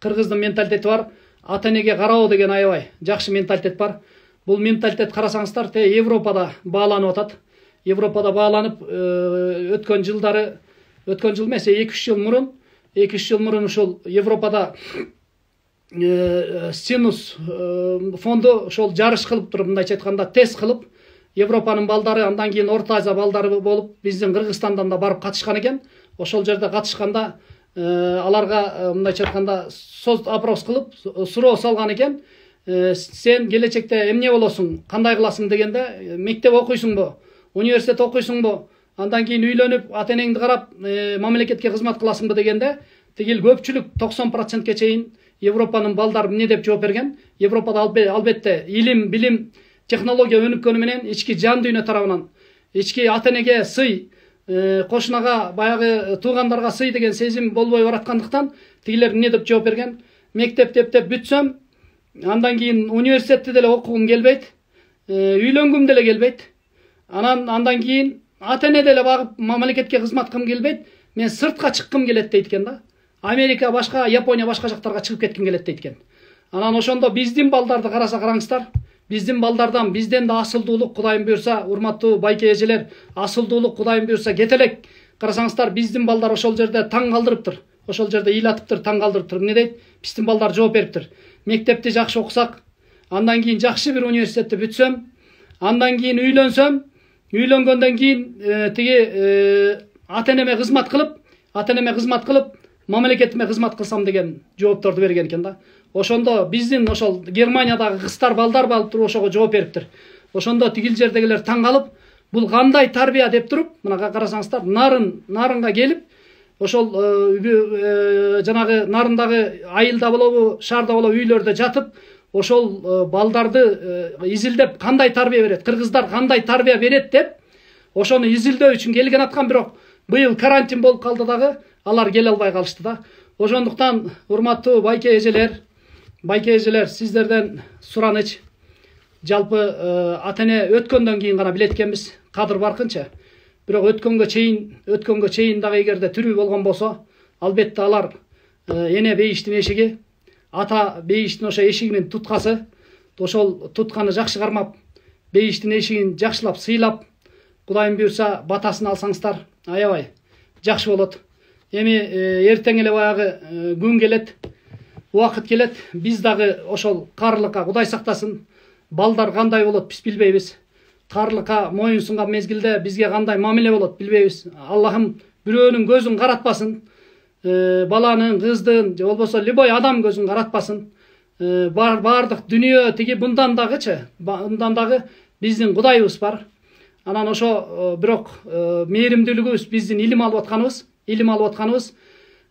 кыргыздын менталитети бар. Ата энеге кароо деген аябай жакшы менталитет бар. Бул менталитет карасаңыздар, Европада бааланып атат. Европада бааланып өткөн жыл эмес, 2-3 жыл мурун ушул Европада Синус фонду ошол жарыш кылып туруп, мындайча айтканда тест кылып, Европанын балдары, андан кийин Орто Азия балдары болуп, биздин Кыргызстандан да барып катышкан экен. Ошол жерде катышканда аларга мындайча айтканда опрос кылып, суроо салган экен. Сен келечекте эмне болосуң, кандай кыласың дегенде, мектеп окуйсуңбу, университет окуйсуңбу, андан кийин үйлөнүп, ата энеңди карап, мамлекетке кызмат кыласыңбы дегенде, тигил көпчүлүк 90%ке чейин Европанын балдары эмне деп жооп берген? Европада албетте илим, билим, технология өнүккөнү менен ички жан дүйнө тарабынан, ички ата энеге сый, кошунага, баягы туугандарга сый деген сезим болбой бараткандыктан, тигилер эмне деп жооп берген? Мектепти эптеп бүтсөм, андан кийин университетти деле окугум келбейт, үйлөнгүм деле келбейт. Андан кийин ата эне деле багып мамлекетке кызмат кылгым келбейт. Мен сыртка чыккым келет дейт экен да. Америка башка, Япония башка жактарга чыгып кетким келет дейт экен. Анан ошондо биздин балдарды караса караңыздар. Биздин балдардан бизден да асылдуулук Кудайым буйрса, урматтуу байке эжелер, асылдуулук Кудайым буйрса кете элек. Карасаңыздар, биздин балдар ошол жерде таң калдырыптыр. Ошол жерде ил атыптыр, таң калдырыптыр. Эмне дейт? Биздин балдар жооп бериптир. Мектепти жакшы окусак, андан кийин жакшы бир университетти бүтсөм, андан кийин үйлөнсөм, үйлөнгөндөн кийин тиги ата энеме кызмат кылып, мамлекетиме кызмат кылсам деген жоопторду берген экен да. Ошондо биздин ошол Германиядагы кыздар, балдар балып туруп ошого жооп бериптир. Ошондо тигил жердегилер таң калып, бул кандай тарбия деп туруп, мына карасаңыздар, нарынга келип, ошол жанагы нарындагы айылда болобу, шаарда болобу үйлөрдө жатып, ошол балдарды изилдеп кандай тарбия берет, кыргыздар кандай тарбия берет деп, ошону изилдөө үчүн келген аткан, бирок быйыл карантин болуп калды дагы, алар келе албай калышты да. Ошондуктан урматтуу байке эжелер, сиздерден сураныч, жалпы ата эне өткөндөн кийин гана билет экенбиз, кадыр баркынча. Бирок өткөнгө чейин дагы эгерде тирүү болгон болсо, албетте алар эне бейиштин эшиги, ата бейиштин ошо эшигинин туткасы, ошол тутканы жакшы кармап, бейиштин эшигин жакшылап сыйлап, Кудайым буйрса батасын алсаңыздар, аябай жакшы болот. Эми эртең эле баягы күн келет, убакыт келет, биз дагы ошол каарылыкка, Кудай сактасын, балдар кандай болот биз билбейбиз. Каарылыкка моюн сунган мезгилде бизге кандай мамиле болот билбейбиз. Аллахым бирөөнүн көзүн каратпасын, баланын, кыздын, же болбосо любой адам көзүн каратпасын. Бардык дүнүйө тиги мындан дагы биздин Кудайыбыз бар. Анан ошо бирок мээримдүүлүгүбүз, биздин илим алып атканыбыз,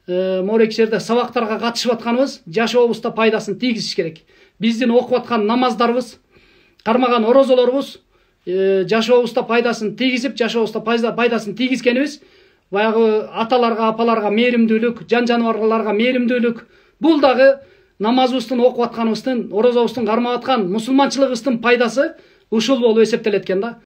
моорек жерде сабактарга катышып атканыбыз жашообузда пайдасын тийгизиш керек. Биздин окуп аткан намаздарыбыз, кармаган орозолорубуз жашообузда пайдасын тийгизип, жашообузда пайдасын тийгизгенибиз, баягы аталарга, апаларга мээримдүүлүк, жан жаныбарларга мээримдүүлүк, бул дагы намазыбыздын, окуп атканыбыздын, орозобуздун, кармап аткан мусулманчылыгыбыздын пайдасы ушул болуп эсептелет экен да.